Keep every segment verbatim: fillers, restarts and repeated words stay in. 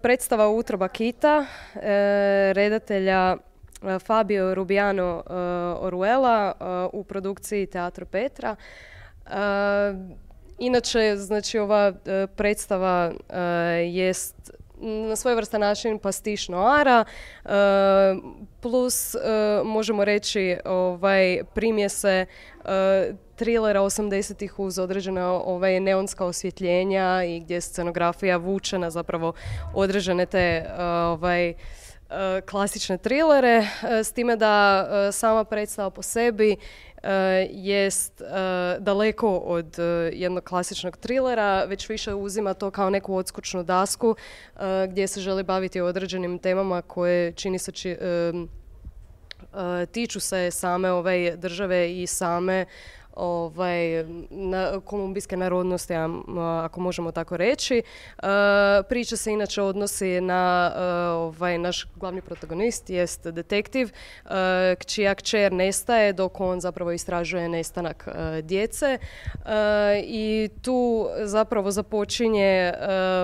Predstava Utroba kita, e, redatelja e, Fabio Rubiano e, Oruela e, u produkciji Teatro Petra. E, inače, znači, ova e, predstava e, jest na svojevrstan način pastiš noara, e, plus e, možemo reći ovaj, primjese e, trilera osamdesetih uz određena ovaj, neonska osvjetljenja i gdje je scenografija vučena zapravo određene te ovaj, klasične trilere, s time da sama predstava po sebi jest daleko od jednog klasičnog trilera, već više uzima to kao neku odskočnu dasku gdje se želi baviti određenim temama koje čini se či, tiču se same ove države i same ovaj, na, kolumbijske narodnosti, ako možemo tako reći. Uh, priča se inače odnosi na uh, ovaj, naš glavni protagonist, jest detektiv, uh, čija kćer nestaje dok on zapravo istražuje nestanak uh, djece. Uh, I tu zapravo započinje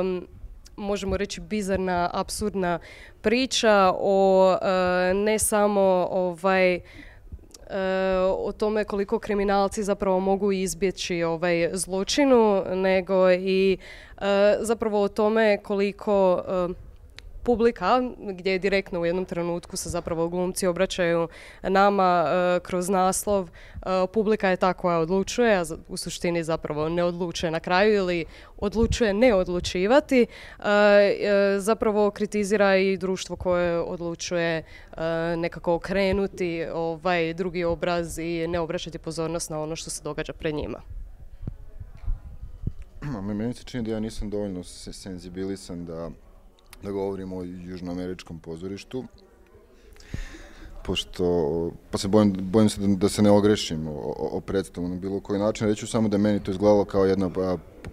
um, možemo reći bizarna, apsurdna priča o uh, ne samo ovaj o tome koliko kriminalci zapravo mogu izbjeći ovaj zločinu, nego i uh, zapravo o tome koliko uh, publika, gdje je direktno u jednom trenutku se zapravo glumci obraćaju nama uh, kroz naslov, uh, publika je ta koja odlučuje, a u suštini zapravo ne odlučuje na kraju ili odlučuje ne odlučivati, uh, uh, zapravo kritizira i društvo koje odlučuje uh, nekako okrenuti ovaj drugi obraz i ne obraćati pozornost na ono što se događa pred njima. Meni se čini da ja nisam dovoljno senzibilisan da da govorimo o južnoameričkom pozorištu, pošto, pa se bojim, bojim se da, da se ne ogrešim o, o predstavu na bilo koji način. Reću samo da meni to izgledalo kao jedna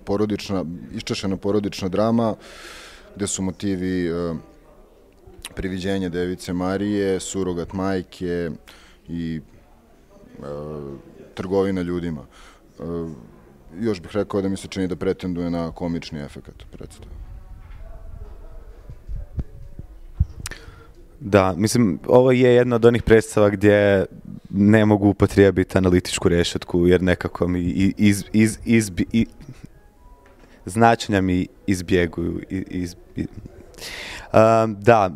porodična, iščešena porodična drama, gde su motivi uh, priviđenja Device Marije, surogat majke i uh, trgovina ljudima. Uh, još bih rekao da mi se čini da pretenduje na komični efekat predstave. Da, mislim, ovo je jedna od onih predstava gdje ne mogu upotrijebiti analitičku rešetku, jer nekako mi iz, iz, iz, iz, značenja mi izbjeguju. Iz, iz, um, da,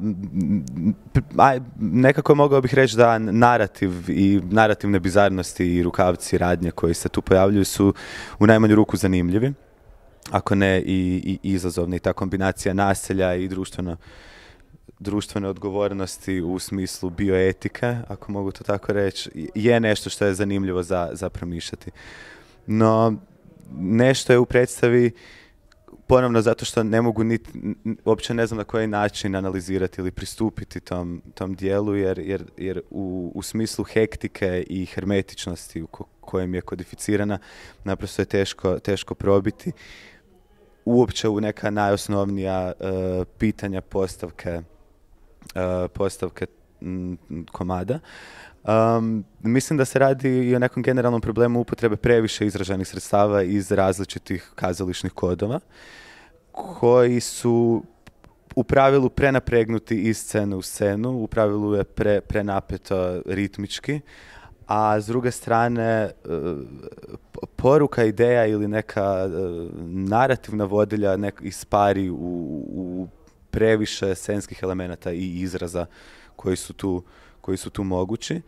aj, nekako mogao bih reći da narativ i narativne bizarnosti i rukavci radnje koji se tu pojavljuju su u najmanju ruku zanimljivi, ako ne i, i izazovni. Ta kombinacija naselja i društveno društvene odgovornosti u smislu bioetike, ako mogu to tako reći, je nešto što je zanimljivo za, za promišljati. No, nešto je u predstavi, ponovno zato što ne mogu niti, uopće ne znam na koji način analizirati ili pristupiti tom, tom dijelu, jer, jer, jer u, u smislu hektike i hermetičnosti u ko, kojem je kodificirana, naprosto je teško, teško probiti. Uopće u neka najosnovnija uh, pitanja postavke Uh, postavke m, komada. Um, mislim da se radi i o nekom generalnom problemu upotrebe previše izraženih sredstava iz različitih kazališnih kodova, koji su u pravilu prenapregnuti iz scene u scenu, u pravilu je pre, prenapeto ritmički, a s druge strane uh, poruka, ideja ili neka uh, narativna vodilja nek ispari u, u previše scenskih elemenata i izraza koji su tu, koji su tu mogući.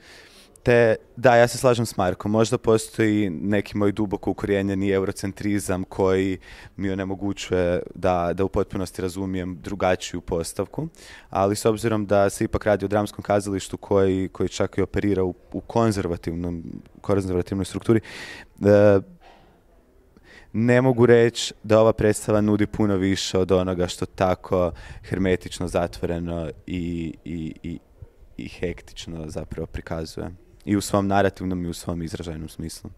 Te, da, ja se slažem s Markom, možda postoji neki moj duboko ukorijenjeni eurocentrizam koji mi onemogućuje da, da u potpunosti razumijem drugačiju postavku, ali s obzirom da se ipak radi o dramskom kazalištu koji, koji čak i operira u, u konzervativnom, konzervativnoj strukturi, e, ne mogu reći da ova predstava nudi puno više od onoga što tako hermetično, zatvoreno i, i, i, i hektično zapravo prikazuje. I u svom narativnom i u svom izražajnom smislu.